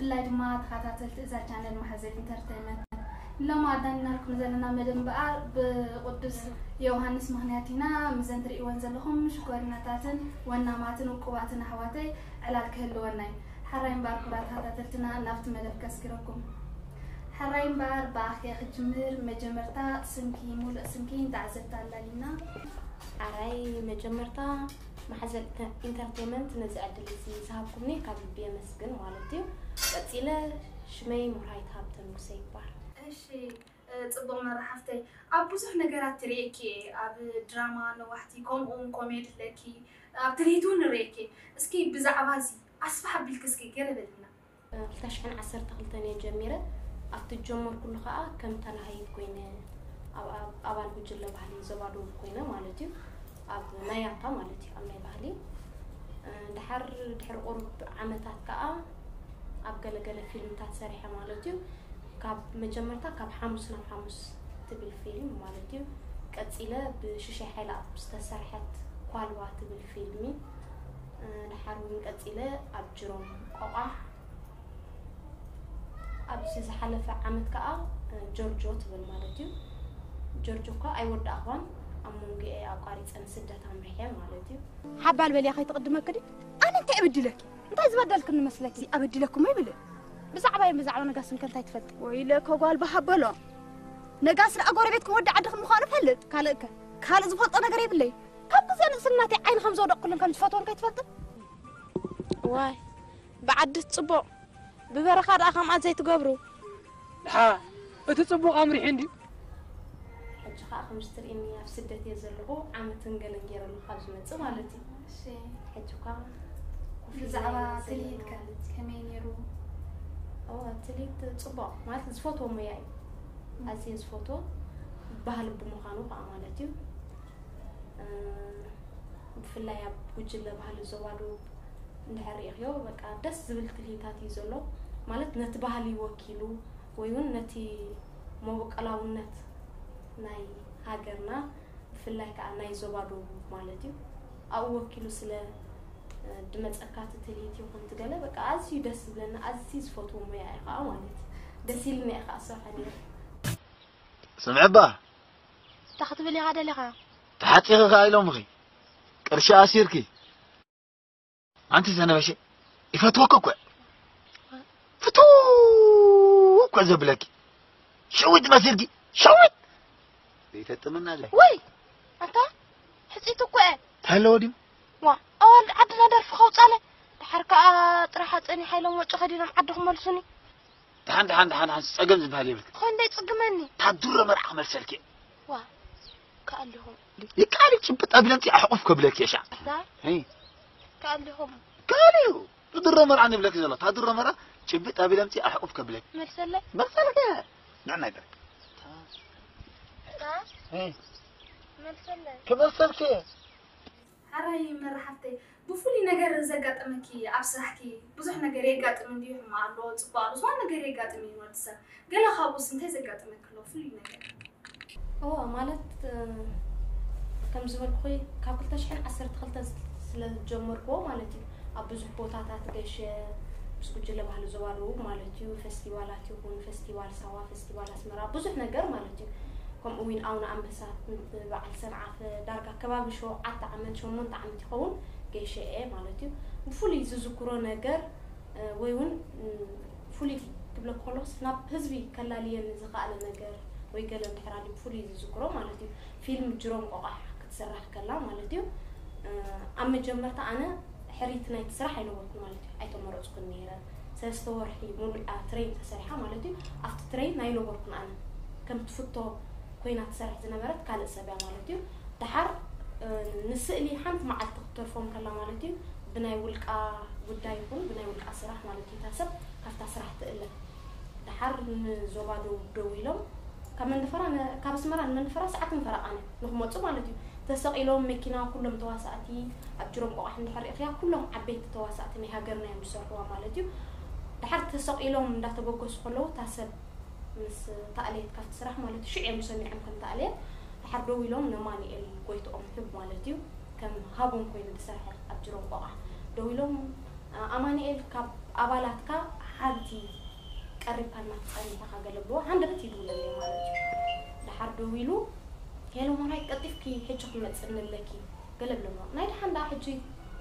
ብፍላይ ድማ ተኸታተልቲ እዛ ቻነል ማሕዘል ኢንተርተይመንት፣ ሎሚ ኣዳሊናልኩም ዘለና መደብ እምበኣር ብቅዱስ ዮሃንስ ምኽንያት ኢና። ምዘን ትርእይወን ዘለኹም ሽኮሪናታትን ወናማትን ውቁባትን ኣሕዋተይ ዕላል ክህልወና እዩ። ሕራይ እምበኣር ክቡራት ተኸታተልትና ናብቲ መደብ ከስግረኩም። ሕራይ እምበኣር ብኣኽያ ክጅምር፣ መጀመርታ ስምኪ፣ ሙሉእ ስምኪ ንተዓዘብቲ ኣላሊና። ሕራይ መጀመርታ ማሕዘል ኢንተ-፣ ኢንተርቴይመንት ነዚ ዕድል እዚ ዝሃብኩምኒ ካብ ልቢ የመስግን ማለት እዩ። ቀጺለ ሽመይ ሙርሃይት ሃብተ ንጉሰ ይባሃል። እሺ፣ እ፣ ጽቡቕ መራሕፍተይ። ኣብ ብዙሕ ነገራት ትርእየኪ እየ፣ ኣብ ድራማ ነዋሕቲ፣ ከምኡ እውን ኮሜዲ ኣለኪ፣ ኣብ ትልሂት እውን ንርእየኪ። እስኪ ብዛዕባ እዚ ኣስፍሕ ኣቢልኪ እስኪ ገለ በልና። እ፣ ክልተ ሽሕን ዓሰርተ ክልተን እየ ጀሚረ። ኣብቲ ዝጀመርኩሉ ከኣ ከም ተላሃይት ኮይነ፣ ኣብ፣ ኣብ፣ ኣባል ጉጅለ ባህሊ ዞባ ደቡብ ኮይነ ማለት እዩ። ኣብ ናይ ያታ ማለት እዩ፣ ኣብ ናይ ባህሊ። እ፣ ድሓር፣ ድሕሪ ቁሩብ ዓመታት ከኣ ኣብ ገለገለ ፊልምታት ሰሪሐ ማለት እዩ። ካብ መጀመርታ ካብ ሓሙስ ናብ ሓሙስ ትብል ፊልም ማለት እዩ። ቀጺለ ብሽሻይ ሓይለኣብ ዝተሰርሐት ኳልባ ትብል ፊልሚ። እ፣ ድሓር እውን ቀጺለ ኣብ ጅሮም ቆቋሕ። ኣብዚ ዝሓለፈ ዓመት ከኣ፣ እ፣ ጆርጆ ትብል ማለት እዩ። ጆርጆ እኳ ኣይወዳእኳን፣ ኣብ መንጎ እየ ኣቋሪጸ ንስደት ኣምሪሐ ማለት እዩ። ሓባል በልያ ከይትቕድመኪ ድዩ? ኣነ እንታይ ኣበድለኪ? እንታይ ዝበደልክኒ መስለኪ? ኣበድለኩም ኣይብልን። ብዛዕባይ ብዛዕባ ነጋስን ከ እንታይ ትፈልጢ? ወይለከ ጓል በሃበሎ። ነጋስ ደኣ ጎረቤትኩም ወዲ ዓድኽን ምዃኑ እፈልጥ። ካልእከ? ካልእ ዝፈልጦ ነገር የብለይ። ካብ ግዜ ንእስነተይ ዓይኒ ከም ዘውደቕኩሉን ከም ዝፈትዎን ከይትፈልጥን? ዋይ፣ ብዓዲ ጽቡቕ፣ ብበረኻ ደኣ ከምኣ ዘይትገብሩ። ድሓ፣ እቲ ጽቡቕ ኣምሪሑ እንድዩ። ሕጂ ኸኣ ከምዚ ትርእይኒ ኣብ ስደት እየ ዘለኹ፣ ዓመትን ገለን ገይረ ኣለኹ ካብ ዝመጽእ ማለት እዩ። እሺ። ሕጂ እኳ ኮፍ ኢለ ብዛዕባ እየ ዘለኹ ትልሂትከ ማለት እዩ። ከመይ ነይሩ? ኦ፣ ትልሂት ጽቡቕ፣ ማለት ዝፈትዎ ሞያ እዩ። ም። ኣዝየ ዝፈትዎ፣ ባህሊ ብምዃኑ ኸኣ ማለት እዩ። እ፣ ብፍላይ ኣብ ጉጅለ ባህሊ ዞባ ደቡብ እንድሕር ርኢኽዮ፣ በቃ ደስ ዝብል ትልሂታት እዩ ዘሎ። ማለት ነቲ ባህሊ ወኪሉ ወይ እውን ነቲ መበቆላውነት ናይ ሃገርና፣ ብፍላይ ከዓ ናይ ዞባ ደቡብ ማለት እዩ፣ ኣብኡ ወኪሉ ስለ፣ እ፣ ድመፀካ እቲ ትልሂት ይኹን እቲ ገለ፣ በቃ ኣዝዩ ደስ ዝብለኒ፣ ኣዝዩ ዝፈትዎ ሞያ እዩ ከዓ ማለት እዩ። ደስ ኢሉኒ እየ ከዓ ዝሰርሖ ነይረ። ስምዒ እባ። እንታይ ክትብል ኢኻ ደሊኻ? ተሓጺኺ ከኣ ኢሎምኺ። ቅርሺ ኣሲርኪ። ኣንቲ ዘነበሸ፣ ይፈትወኪ እኮ። ፍትው እኮ ዘብለኪ። ሸዊት መሲልኪ። ሸዊት። ዘይፈጥምና ኣለይ። ወይ፣ ኣንታ፣ ሕጽይቲ እኮ እየ። እንታይ ኣለዎ ድዩ? ዋ፣ ኣዋልድ ዓድና ደርፊ ከውጻለ። ድሓር ከኣ ጥራሕ ኣጸኒሓ ኢሎም ወጪ ከዲኖም ዓዲ ክመልሱኒ። ደሓን፣ ደሓን፣ ደሓን፣ ደሓን፣ ጸገም ዝበሃል የብልክን። ኾይ፣ እንታይ ጽግመኒ? ታድሮ መርዓ ክመልሰልኪ እየ። ዋ፣ ከኣሊኹም። ይከኣል እዩ፣ ጭብጥ ኣቢለ ኣምጺእ ኣሕቑፍ ከብለኪ እየ ሻዕ። ኣታ? ሄይ። ከኣሊኹም። ከኣል እዩ። ታድሮ መርዓ ንብለኪ ዘሎ። ታድሮ መርዓ ጭብጥ ኣቢለ ኣምጺእ ኣሕቑፍ ከብለኪ። መልሰለይ? መልሰልኪ እየ። ንዕናይ በል። ኣታ? ሄይ። መልሰለይ? ክመልሰልኪ እየ። ሓራይ መራሕብተይ፣ ብፍሉይ ነገር ዘጋጠመኪ ኣብ ስራሕኪ ብዙሕ ነገር የጋጥም እንድዩ፣ ሕማቕ ኣሎ፣ ጽቡቕ ኣሎ፣ ዝኾነ ነገር የጋጥም እዩ ንወዲ ሰብ። ገለ ካብኡስ እንታይ ዘጋጠመኪ ኣሎ ፍሉይ ነገር? እወ፣ ማለት፣ እ፣ ከም ዝበልኩኺ ካብ ክልተ ሽሕን ዓሰርተ ክልተ ስለ ዝጀመርክዎ ማለት እዩ፣ ኣብ ብዙሕ ቦታታት ገሸ ምስ ጉጅለ ባህሊ ዞባ ደቡብ ማለት እዩ፣ ፈስቲቫላት ይኹን፣ ፈስቲቫል ሳዋ፣ ፈስቲቫል ኣስመራ፣ ብዙሕ ነገር ማለት እዩ። ከምኡ እውን ኣቡነ ኣንበሳ፣ በዓል ሰንዓፈ፣ ዳርጋ ከባቢ ሸውዓተ ዓመት፣ ሸሞንተ ዓመት ይኸውን ገይሸ እየ ማለት እዩ። ብፍሉይ ዝዝክሮ ነገር፣ እ፣ ወይ እውን፣ እ፣ ፍሉይ ክብለኪ ከለኹስ፣ ናብ ህዝቢ ከላልየኒ ዝኸኣለ ነገር ወይ ገለ እንድሕር ኣልዩ ብፍሉይ ዝዝክሮ ማለት እዩ፣ ፊልም ጅሮም ቆቋሕ ክትስራሕ ከላ ማለት እዩ። እ፣ ኣብ መጀመርታ ኣነ ሕሪት ናይቲ ስራሕ ኣይነበርኩን ማለት እዩ። ኣይተመረጽኩን ነይረ። ሰለስተ ወርሒ ሙሉእ እያ ትሬን ተሰሪሓ ማለት እዩ። ኣብቲ ትሬን ኣይነበርኩን ኣነ። ከም ትፍቶ ኮይና ትሰርሕ ዝነበረት ካልእ ሰብ እያ ማለት እዩ። ደሓር፣ እ፣ ንስእሊ ሓንቲ መዓልቲ ክትተርፎም ከላ ማለት እዩ፣ ብናይ ውልቃ ጉዳይ ይኹን ብናይ ውልቃ ስራሕ ማለት እዩ፣ እታ ሰብ ካብታ ስራሕ ትእለ። ደሓር ንዞባ ደቡብ ደዊሎም፣ ካብ መንደፈራ ነ-፣ ካብ ኣስመራ ንመንደፈራ ሰዓትን ፈረቓን እዩ ንኽመጹ ማለት እዩ። ተሰቒሎም መኪና፣ ኩሎም ተዋሳእቲ፣ ኣብ ጅሮም ቆቋሕ እንድሕር ርኢኽያ፣ ኩሎም ዓበይቲ ተዋሳእቲ ናይ ሃገርና እዮም ዝሰርሕዋ ማለት እዩ። ደሓር ተሰቒሎም እንዳተበገሱ ከለዉ፣ እታ ሰብ ምስ ተኣለየት ካብቲ ስራሕ ማለት እዩ፣ ሽዑ እዮም ሰሚዖም ከም ተኣለየት። ደሓር ደዊሎም ነማኑኤል ጎይትኦም ሕብ ማለት እዩ፣ ከም ሃቦም ኮይኑ ዝሰርሐ ኣብ ጅሮም ቆቋሕ ደዊሎም፣ ኣማኑኤል፣ ካብ ኣባላትካ ሓንቲ ቀሪብካ እናተጸኒሕካ ገለ ብሎ ሃንደበት ይድውለለይ ማለት እዩ። ደሓር ደዊሉ፣ "ሄሎ ማራይ፣ ቀልጢፍኪ ሕጂ ክመጽእኒ ኣለኪ" ገለ ብለሞ። ናይ ደሓን ደኣ ሕጂ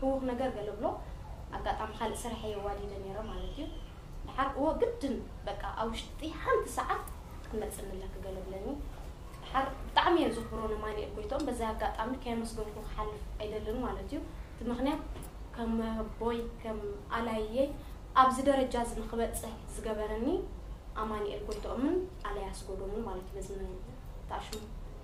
ህውኽ ነገር ገለ ብሎ፣ ኣጋጣሚ ካልእ ስርሐይ የዋዲደ ነይረ ማለት እዩ። ደሓር እወ ግድን በቃ ኣብ ውሽጢ ሓንቲ ሰዓት ክትመጽእኒ ኣለኪ ገለ ብለኒ። ደሓር ብጣዕሚ እየ ዘኽብሮ ንኣማኑኤል ጎይትኦም፣ በዚ ኣጋጣሚ ከየመስገንኩ ክሓልፍ ኣይደልን ማለት እዩ። እቲ ምኽንያት ከም ኣቦይ፣ ከም ኣላየይ ኣብዚ ደረጃ እዚ ንክበጽሕ ዝገበረኒ ኣማኑኤል ጎይትኦምን ኣላይ ኣስገዶምን ማለት እዩ። በዚ መን-፣ ተኣሽሙ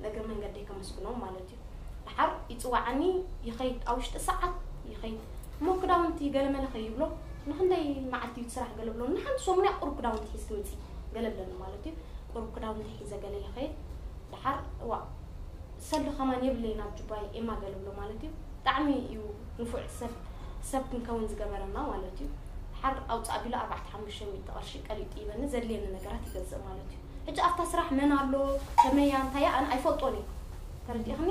እግሪ መንገደይ ከመስግኖም ማለት እዩ። ደሓር ይጽዋዓኒ፣ ይኸይድ፣ ኣብ ውሽጢ ሰዓት ይኸይድ። እሞ ክዳውንቲ ገለመለ ከይብሎ፣ "ንኽንደይ መዓልቲ እዩ እቲ ስራሕ?" ገለ ብሎ፣ "ንሓንቲ ሰሙን እያ ቁሩብ ክዳውንቲ ሒዝኪ ምጺ" ገለ ብለኒ ማለት እዩ። ቁሩብ ክዳውንቲ ሒዘ ገለ ይኸይድ። ደሓር፣ "እዋ፣ ሰልዲ ከማን የብለይን ኣብ ጁባይ ኤማ" ገለ ብሎ ማለት እዩ። ብጣዕሚ እዩ ንፉዕ ሰብ፣ ሰብ ክንከውን ዝገበረና ማለት እዩ። ደሓር ኣውፅእ ኣቢሉ ኣርባዕተ ሓሙሽተ ሚእቲ ቅርሺ ቀሊጡ ይበኒ፣ ዘድልየኒ ነገራት ይገዝእ ማለት እዩ። ሕጂ ኣብታ ስራሕ መን ኣሎ፣ ከመይ እያ፣ እንታይ እያ፣ ኣነ ኣይፈልጦን እየ። ተረዲእኽኒ?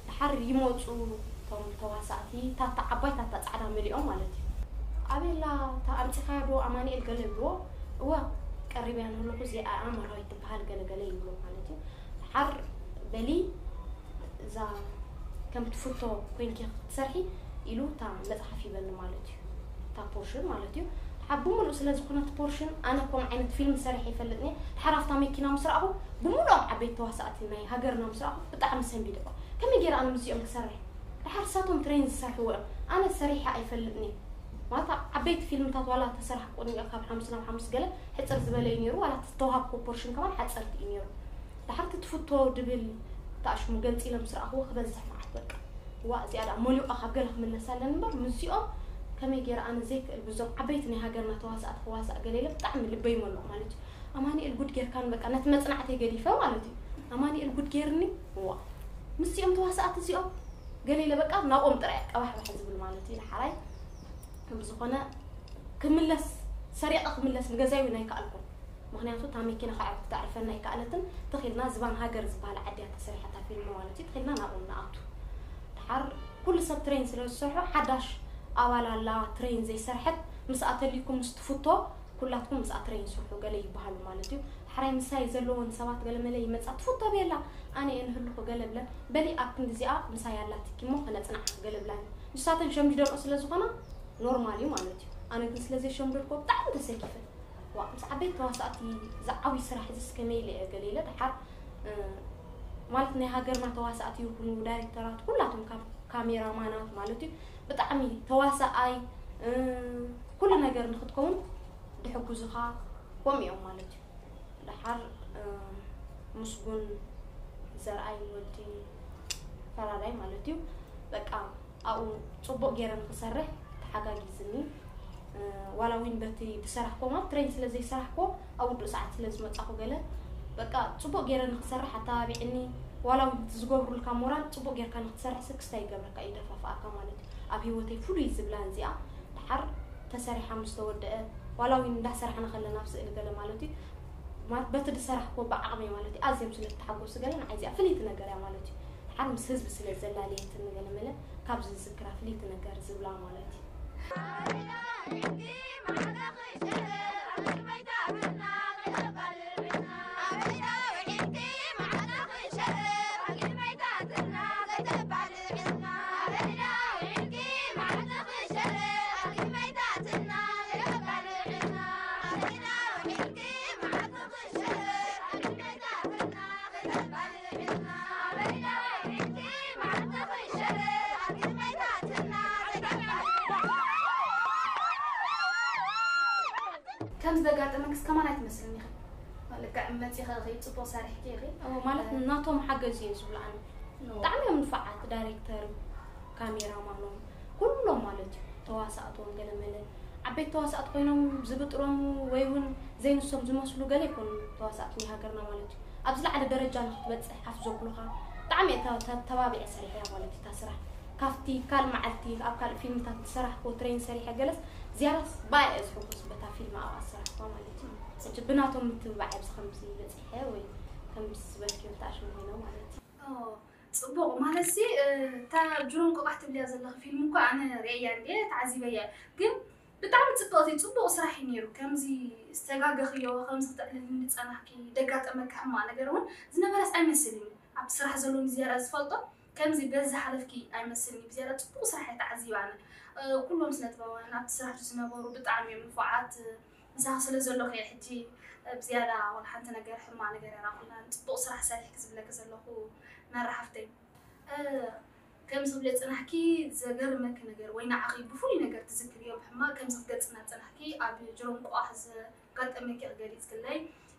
ደሓር ይመፁ እቶም ተዋሳእቲ፣ ታታ ዓባይ ታታ ፃዕዳ መሊኦም ማለት እዩ። "ኣቤላ፣ እታ ኣምፂኻያ ዶ ኣማኑኤል?" ገለ ይብልዎ። "እወ፣ ቀሪበያ ንህለኹ እዚኣ እያ መራዊት ትበሃል" ገለ ገለ ይብሎ ማለት እዩ። ደሓር በሊ እዛ ከም ትፍቶ ኮይንኪ ክትሰርሒ ኢሉ እታ መጽሓፍ ይበኒ ማለት እዩ። እታ ፖርሽን ማለት እዩ። ደሓር ብምሉእ ስለ ዝኾነት ፖርሽን፣ ኣነ ከምኡ ዓይነት ፊልም ሰሪሐ ይፈልጥን እየ። ደሓር ኣብታ መኪና ምስ ረኣኹ፣ ብምሉኦም ዓበይቲ ተዋሳእቲ ናይ ሃገርና ምስ ረኣኹ፣ ብጣዕሚ ሰንቢደ። ከመይ ገይረ ኣነ ምስዚኦም ክሰርሕ? ደሓር ንሳቶም ትሬን ዝሰርሕዎ እዮም። ኣነ ሰሪሐ ኣይፈልጥን እየ። ማለት ኣብ ዓበይቲ ፊልምታት ዋላ ተሰራሕኩ እኒኦ፣ ካብ ሓሙስ ናብ ሓሙስ ገለ ሕጽር ዝበለ እዩ ነይሩ፣ ዋላ እቲ ዝተዋሃብኩ ፖርሽን ከማን ሓጸርቲ እዩ ነይሩ። ደሓር እቲ ትፍቶ ድብል ተኣሽሙ ገንጺለ ምስ ረኣኽዎ ክበዝሕ መዓት በቃ። ዋ፣ እዚኣ ደኣ መሊኡ ካብ ገለ ክምለስ ኣለኒ እምበር፣ ምስዚኦም ከመይ ገይረ ኣነ ዘይክእል፣ ብዞም ዓበይቲ ናይ ሃገርና ተዋሳእቲ ክዋሳእ ገለ ኢለ ብጣዕሚ ልበይ መለቑ ማለት እዩ። ኣማኑኤል ጉድ ጌርካን በቃ፣ ነቲ መጽናዕተይ ገዲፈ ማለት እዩ። ኣማኑኤል ጉድ ጌርኒ፣ ዋ፣ ምስዚኦም ተዋሳእቲ እዚኦም ገለ ኢለ በቃ ናብኦም ጥራይ ኣቀባሕባሕ ዝብል ማለት እዩ። ደሓራይ ከም ዝኾነ ክምለስ፣ ሰሪቐ ክምለስ ንገዛይ እውን ኣይከኣልኩን። ምኽንያቱ እታ መኪና ከዕርፍ፣ ክተዕርፈና ኣይከኣለትን። ትኽ ኢልና ዝባን ሃገር ዝበሃል ዓዲ እያ ተሰሪሓ እታ ፊልም ማለት እዩ። ትኽ ኢልና ናብኡ ንኣቱ። ደሓር ኩሉ ሰብ ትሬን ስለ ዝሰርሖ፣ ሓዳሽ ኣባል ኣላ ትሬን ዘይሰርሐት፣ ምስኣ ተልዩኩም ምስ ትፍቶ ኩላትኩም ምስኣ ትሬን ስርሑ ገለ ይበሃሉ ማለት እዩ። ደሓራይ ምሳይ ዘለዎን ሰባት ገለ መለ ይመጻ፣ "ትፍቶ ቤላ፣ ኣነ እየ ንህልኹ" ገለ ብለን። "በሊ ኣብ ክንዲ እዚኣ ምሳይ ኣላትኪ እሞ ከነጽንዓ" ገለ ብላኒ። ንሳተን ሸምዲደንኦ ስለ ዝኾና ኖርማል እዩ ማለት እዩ። ኣነ ግን ስለ ዘይሸምደድኮ ብጣዕሚ ተሰኪፈ። ዋ፣ ምስ ዓበይቲ ተዋሳእቲ ዝዓብይ ስራሕ እዚስ ከመይ ኢለ እየ ገለ ኢለ። ደሓር፣ እ፣ ማለት ናይ ሃገርና ተዋሳእቲ ይኹኑ ዳይሬክተራት፣ ኩላቶም ካብ ካሜራማናት ማለት እዩ፣ ብጣዕሚ ተዋሳኣይ፣ እ፣ ኩሉ ነገር ንክትከውን ድሕግዙኻ ከምኡ እዮም ማለት እዩ። ደሓር፣ እ፣ ምስጉን ዘርኣይ ወዲ ፈራዳይ ማለት እዩ። በቃ ኣብኡ ጽቡቕ ገይረ ንክሰርሕ ተሓጋጊዝኒ። እ፣ ዋላ እውን በቲ ዝሰራሕኮ ማለት ትሬን ስለ ዘይሰራሕኮ ኣብ ውዱእ ሰዓት ስለ ዝመጻኹ ገለ በቃ ጽቡቕ ገይረ ንክሰርሕ ኣተባቢዕኒ። ዋላ እውን እቲ ዝገብሩልካ ሞራል ጽቡቕ ጌርካ ንክትሰርሕ ስክስታ ይገብረካ እዩ፣ ይደፋፍኣካ ማለት እዩ። ኣብ ህይወተይ ፍሉይ ዝብላ እዚኣ ደሓር ተሰሪሓ ምስ ተወደአ፣ ዋላ እውን እንዳሰራሕና ከለና ኣብ ስእሊ ገለ ማለት እዩ፣ ማለት በቲ ዝሰራሕኮ ብዓቕመይ ማለት እዩ፣ ኣዝዮም ስለ ዝተሓጎሱ ገለ ንዓይ እዚኣ ፍልይቲ ነገር እያ ማለት እዩ። ደሓር ምስ ህዝቢ ስለ ዘላለየትኒ ገለ መለ ካብዚ ዝዝክራ ፍልይቲ ነገር ዝብላ ማለት እዩ። ከም ዘጋጠመክስ ከማን ኣይትመስልን ኢኺ። ልክዕ መፂኺ ኢኺ፣ ፅቡቕ ሰሪሕኪ ኢኺ። እዎ፣ ማለት ናቶም ሓገዝ እየ ዝብሉ ኣነ። እዎ። ብጣዕሚ እዮም ንፉዓት፣ ዳይሬክተር፣ ካሜራማኖም፣ ኩሎም ማለት እዩ። ተዋሳእቶም ገለመለ ዓበይቲ ተዋሳእቲ ኮይኖም ዝብጥሮም ወይ እውን ዘይንሶም ዝመስሉ ገለ ይኮኑ ተዋሳእቲ ናይ ሃገርና ማለት እዩ። ኣብ ዝለዓለ ደረጃ ንክትበፅሕ ሓፍ ዘብሉኻ ብጣዕሚ እየ ተ-፣ ተ-፣ ተባቢዐ ሰሪሐ እያ ማለት እዩ እታ ስራሕ። ካብቲ ካልእ መዓልቲ ኣብ ካልእ ፊልምታት ዝሰራሕክዎ ትሬን ሰሪሐ ገለስ ዝያዳስ ብኣይ እየ ዝሕጎስ በታ ፊልም ኣብኣ ዝሰራሕክዋ ማለት እዩ። ሕጂ ብናቶም ምትብባዕ እየ ኣብዚ ከምዚ በፂሐ ወይ ከምዚ ዝበልክዮ ተኣሽሙ ኮይኖም ማለት እዩ። ኦ፣ ጽቡቕ። ማለትሲ፣ እ፣ እታ ጅሮን ቆቋሕ ትብልያ ዘለኺ ፊልም እኮ ኣነ ርእየያ እንድየ፣ ተዓዚበያ። ግን ብጣዕሚ ጽብቕቲ ጽቡቕ ስራሕ እዩ ነይሩ። ከምዚ ዝተጋገኽዮ፣ ከምዚ ክተዕልልኒ ዝጸናሕኪ፣ ደጋጠመኪ ሕማቕ ነገር እውን ዝነበረስ ኣይመስልን እዩ። ኣብቲ ስራሕ ዘሎ ንዝያዳ ዝፈልጦ ከምዚ በዚ ዝሓለፍኪ ኣይመስልን እዩ። ብዝያዳ ጽቡቕ ስራሕ እየ ተዓዚበ ኣነ። እ፣ ኩሎም ስነ ጥበባውያን ኣብቲ ስራሕ ዝነበሩ ብጣዕሚ እዮም ንፉዓት። ምሳኺ ስለ ዘለኹ እየ ሕጂ ብዝያዳ ወላ ሓንቲ ነገር ሕማቕ ነገር የራኹላን። ጽቡቕ ስራሕ ሰሪሕኪ ዝብለኪ ዘለኹ መራ ሓፍተይ። እ፣ ከምዚ ክብለ ጽናሕኪ ዘገርመኪ ነገር ወይ ንዓኺ ብፍሉይ ነገር ትዝክርዮ ብሕማቕ ከምዚ ክትገልጽና ጽናሕኪ ኣብ ጅሮም ቆቓሕ ዘጋጠመኪ ክገሊጽክለይ፣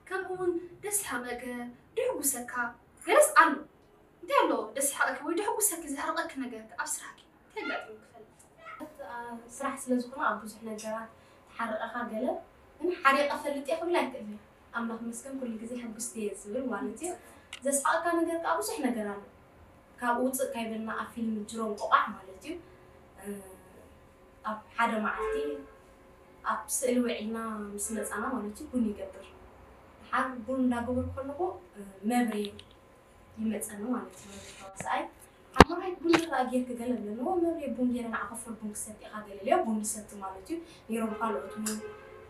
ከምኡ እውን ደስ ዝሓቐ ገ-፣ ድሕጉሰካ ገለስ ኣሎ። እንታይ ኣሎ ደስ ዝሓቐኪ ወይ ድሕጉሰኪ ዘሕርቐኪ ነገር ኣብ ስራሕኪ እንታይ ኣጋጢሙ ክፈልጥ? ስራሕ ስለ ዝኾነ ኣብ ብዙሕ ነገራት ተሓርቐኻ ገለ ግን ሓሪቐ ፈልጥ እየ ክብል ኣይክእልን። ኣምላኽ ይመስገን ኩሉ ግዜ ሕጉስቲ እየ ዝብል ማለት እዩ። ዘስሓቐካ ነገር ከዓ ብዙሕ ነገር ኣሎ። ካብኡ ውፅእ ካይበልና ኣብ ፊልም ጅሮም ቆቋዕ ማለት እዩ። እ፣ ኣብ ሓደ መዓልቲ ኣብ ስእሊ ውዒልና ምስ መፃና ማለት እዩ ቡን ይገብር። ድሓር ቡን እንዳገበርኩ ከለኹ እ፣ መብሬ ይመፀኒ ማለት እዩ። መብሬ ተዋሳኣይ ሓሞራይ ቡን ራ ጌርክ ገለ ብለኒ። እዎ መብሬ ቡን ጌረ ንዓ ከፈል ቡን ክሰቲ ኢኻ ገለ ኢለዮ ቡን ንሰቲ ማለት እዩ። ነይሮም ካልኦት እውን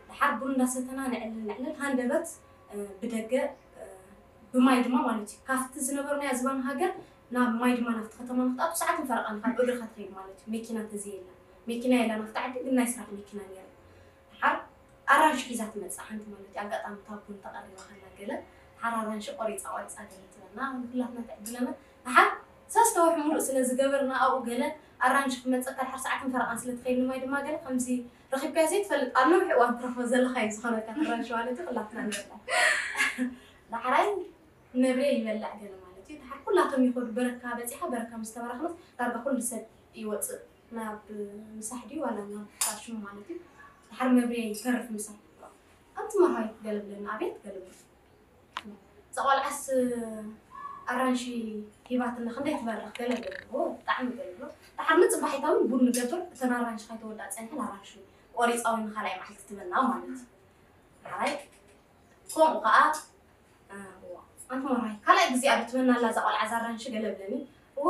ድሓር ቡን እንዳሰተና ንዕልል ንዕልል ሃንደበት እ፣ ብደገ እ፣ ብማይ ድማ ማለት እዩ ካብቲ ዝነበርናዮ ዝባን ሃገር ናብ ማይ ድማ ናብቲ ከተማ ንክትኣቱ ሰዓትን ፈረቓን ካብ እግርኻ ትኸይድ ማለት እዩ። መኪና እንተዘየላ መኪና የላን ኣብቲ ዓዲ ግን ናይ ስራሕ መኪና ነይሩ። ድሓር ኣራንሺ ሒዛ ትመጽእ ሓንቲ ማለት እዩ። ኣጋጣሚ እታ ቡን ተቐሪባ ከላ ገለ ድሓር ኣራንሺ ቆሪጻ ቆሪጻ ገለ ትበልና ንኩላትና ትዕድለና። ድሓር ሰለስተ ወርሒ ሙሉእ ስለ ዝገበርና ኣብኡ ገለ ኣራንሺ ክመጸካ ድሓር ሰዓትን ፈረቓን ስለ ትኸይድ ንማይ ድማ ገለ ከምዚ ረኺብካዮ ዘይትፈልጥ ኣብ ነዊሕ እዋን ትረኽቦ ዘለኻ እዩ ዝኾነካ ኣራንሺ ማለት እዩ። ኩላትና ንበልዓ። ዳሕራይ ነብሬ ይበልዕ ገለ ማለት እዩ። ድሓር ኩላቶም ይኸዱ በረካ በጺሓ በረካ ምስ ተባረኽናስ ዳርጋ ኩሉ ሰብ ይወጽእ ናብ ምሳሕ ድዩ ዋላ ናብ ሽሙ ማለት እዩ። ድሓር መብሬ ይተርፍ ምሳሕ። ኣንቲ መርሃዊት ገለ ብለና ኣቤት ገለ ብለና። እዛ ቆልዓስ ኣራንሺ ሂባትና ክንደይ ትበርኽ ገለ ብለና። ኦ ብጣዕሚ ገለ ብሎ። ድሓር ንጽባሒታ እውን ቡን ንገብር እተን ኣራንሺ ከይተወድኣ ጸኒሐን ኣራንሺ ቆሪጻ እውን ንኻልኣይ መዓልቲ ትበልና ማለት እዩ። ድሓራይ ከምኡ ከዓ ኣንቲ ሞራይ ካልኣይ ግዜ ኣብ ትበና ኣላ እዛ ቆልዓ እዛ ኣራንሺ ገለ ብለኒ። እወ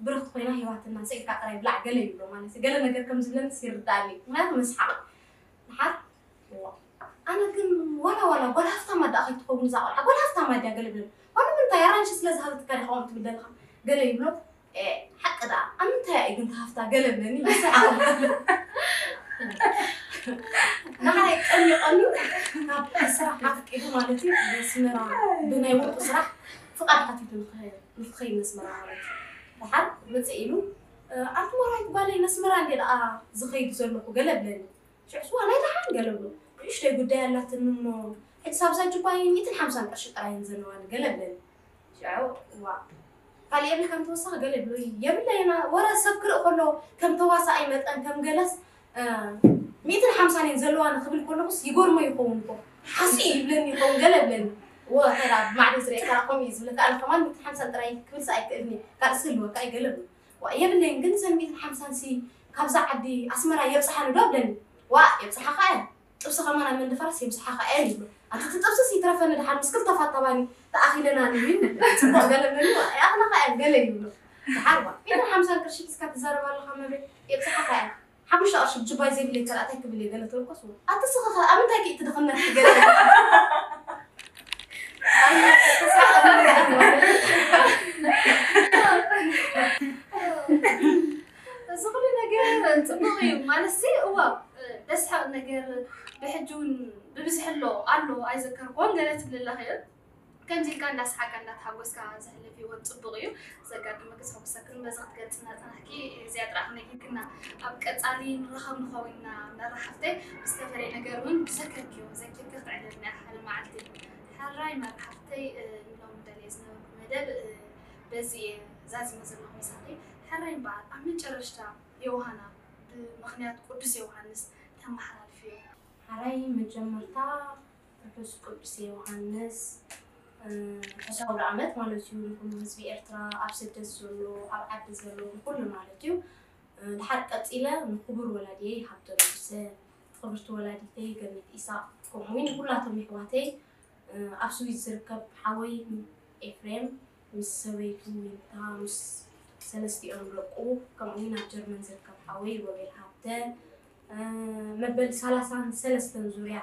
ብርኽቲ ኮይና ሂባትና ስኢልካ ጥራይ ብላዕ ገለ ይብሎ ማለት እዩ። ገለ ነገር ከም ዝብለኒ ይርዳእኒ ምክንያቱ መስሓቕ። ድሓር እወ ኣነ ግን ዋላ ዋላ ጓል ሃፍታም ኣዳ ከይትኸውን እዛ ቆልዓ ጓል ሃፍታም ኣድያ ገለ ብለኒ። ዋላ ምንታይ ኣራንሺ ስለ ዝሃበትካ ዲኻ ከምኡ ትብል ዘለኻ ገለ ይብሎ። ሓቂ ደኣ ኣብ ምንታይ እያ ግን ተሃፍታ ገለ ብለኒ ይስሓቕ። ንዓይ ቀንዩ ቀንዩ ካብ ስራሕ ኣፍቂዱ ማለት እዩ ኣስመራ ብናይ ውልቁ ስራሕ ፍቓድ ሓቲቱ ንክኸይድ ነስመራ ማለት እዩ። ድሓር ምፅእ ኢሉ ኣንቲ ሞራይት ጓለይ ነስመራ እንደ ደኣ ዝኸይድ ዘለኹ ገለ ብለኒ። ሽዑስ ዋ ናይ ደሓን ገለ ብሎ ንእሽተይ ጉዳይ ኣላትኒ እሞ ሕጂ ሳብዛ ጁባይ ሚእትን ሓምሳን ቅርሺ ጥራይ እየን ዘለዋኒ ገለ ብለኒ። ሽዑ ዋ ካልእ የብልካን ተወሳኺ ገለ ብሎ የብለይና ወረ ሰብ ክርኢ ከሎ ከም ተዋሳኣይ መጠን ከም ገለስ ሚእትን ሓምሳን እየን ዘለዋኒ ክብል ከለኹስ ይገርሞ ይኸውን እኮ ሓስኡ ይብለኒ ይኸውን ገለ ብለኒ። ወ ተራ ብማዕዶ ዝርእየካ ከምኡ እዩ ዝብለካ ኣነ ከማን ሚእትን ሓምሳን ጥራይ ክብልሲ ኣይክእልኒ ካልእ ዝህልወካ እዩ ገለ ብሎ ዋ የብለይን ግን እዘን ሚእትን ሓምሳን ሲ ካብዛ ዓዲ ኣስመራ የብፅሓኒ ዶ ብለኒ። ዋእ የብፅሓኻ እየን ጥብሲ ከማን ኣብ መንደፈራስ የብፅሓኻ እየን ይብሎ። ኣቲ እቲ ጥብስስ ይትረፈኒ ድሓን ምስ ክልተ ፋታ ባኒ ተኣኺለና ንብል ጽቡቕ ገለ ብለኒ ዋእ ይኣኽላኻ እየን ገለ ይብሎ። ድሓር ዋእ ሚእትን ሓምሳን ቅርሺ ሒዝካ ትዛረብ ኣለኻ መብሬ የብፅሓኻ እየን ሓሙሽተ ቅርሺ ብጅባይ ዘይብለይ ካልኣታይ ክብል እየ ገለ ተበልኮስ ዋእ ኣቲ ስኽኸ ኣብ ምንታይ ክእቲ ድኽነት ገለ እዚ ኩሉ ነገር ፅቡቕ እዩ ማለት ሲ እዋ ደስሓቕ ነገር ብሕጂ እውን ብብዝሒ ኣሎ ኣሎ ኣይዘከርኩዎን ገለ ትብል ኣለኺ ከምዚ ኢልካ እንዳስሓቅካ እንዳተሓጎስካ ዘሕልፍ ህይወት ፅቡቕ እዩ ዘጋጥመኪ ዘሕጉሰክን በዚ ክትገልፅና ፀናሕኪ እዚኣ ጥራሕ ነጊርክና ኣብ ቀፃሊ ንራኸብ ንኸውን ኢና መራሓፍተይ ብዝተፈለየ ነገር እውን ብዘከርክዮ ዘኪርኪ ክትዕልልና ሓደ መዓልቲ ሕራይ መራሓፍተይ ንሎም ደልየ ዝነበርኩ መደብ በዚ እየ ዛዚመ ዘለኹ ምሳኺ ሕራይ እምበኣር ኣብ መጨረሽታ ዮውሃና ብምኽንያት ቅዱስ ዮውሃንስ ተመሓላልፍዮ። ሓራይ መጀመርታ ርሑስ ቅዱስ ዮውሃንስ ርሑስ ኣውደ ዓመት ማለት እዩ ንኩሉ ህዝቢ ኤርትራ ኣብ ስደት ዘሎ ኣብ ዓዲ ዘሎ ንኩሉ ማለት እዩ። ድሓር ቀጺለ ንክቡር ወላዲየይ ሃብተ ንጉሰ፣ ክብርቲ ወላዲተይ ገነት ኢሳቕ ከምኡ እውን ንኩላቶም የሕዋተይ ኣብ ስዊዝ ዝርከብ ሓወይ ኤፍሬም ምስ ሰበይቱ ዊንታ ምስ ሰለስቲኦም ደቁ ከምኡ እውን ኣብ ጀርመን ዝርከብ ሓወይ ሮቤል ሃብተ መበል ሰላሳን ሰለስተን ዙርያ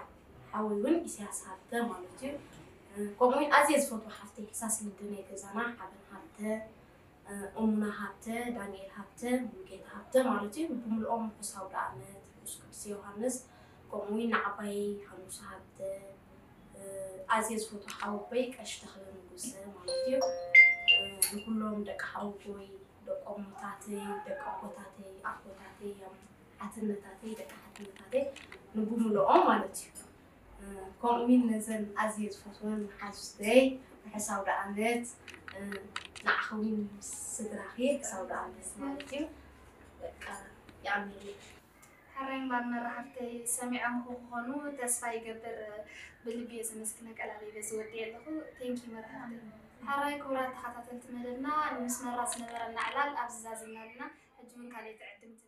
ሓወይ እውን ኢሳያስ ሃብተ ማለት እዩ። ከምኡ እውን ኣዝየ ዝፈትዎ ሓፍተይ ሳስልዲ ናይ ገዛና ሓበን ሃብተ፣ እሙና ሃብተ፣ ዳንኤል ሃብተ፣ ሙሉጌታ ሃብተ ማለት እዩ። ብምልኦም ርሑስ ኣውደ ዓመት ርሑስ ቅዱስ ዮሃንስ፣ ከምኡ እውን ንዓባየይ ሃኑስ ሃብተ፣ ኣዝየ ዝፈትዎ ሓወቦይ ቀሺ ተኽለ ንጉሰ ማለት እዩ። ንኩሎም ደቂ ሓወቦይ፣ ደቂ እሞታተይ፣ ደቂ ኣቦታተይ፣ ኣቦታተይ፣ ሓትነታተይ፣ ደቂ ሓትነታተይ ንብምልኦም ማለት እዩ። ከምኡ እውን ነዘን ኣዝየ ዝፈትወን ሓዙተይ ርሑስ ኣውደ ዓመት ንዓኺ እውን ምስ ስድራኺ ርሑስ ኣውደ ዓመት ማለት እዩ። በቃ የቐንየለይ። ሕራይ እምበር መራሕብተይ ሰሚዖም ክኾኑ ተስፋ ይገብር። ብልቢ እየ ዘመስግነካ ቃለይ በዚ ወዲኤ ኣለኹ። Thank you መራሕብተይ። ሕራይ ክቡራት ተኸታተልቲ መደብና ንምስመራ ዝነበረና ዕላል ኣብዚ ዛዚምና ኣለና። ሕጂ እውን ካልኦት ዕድምቲ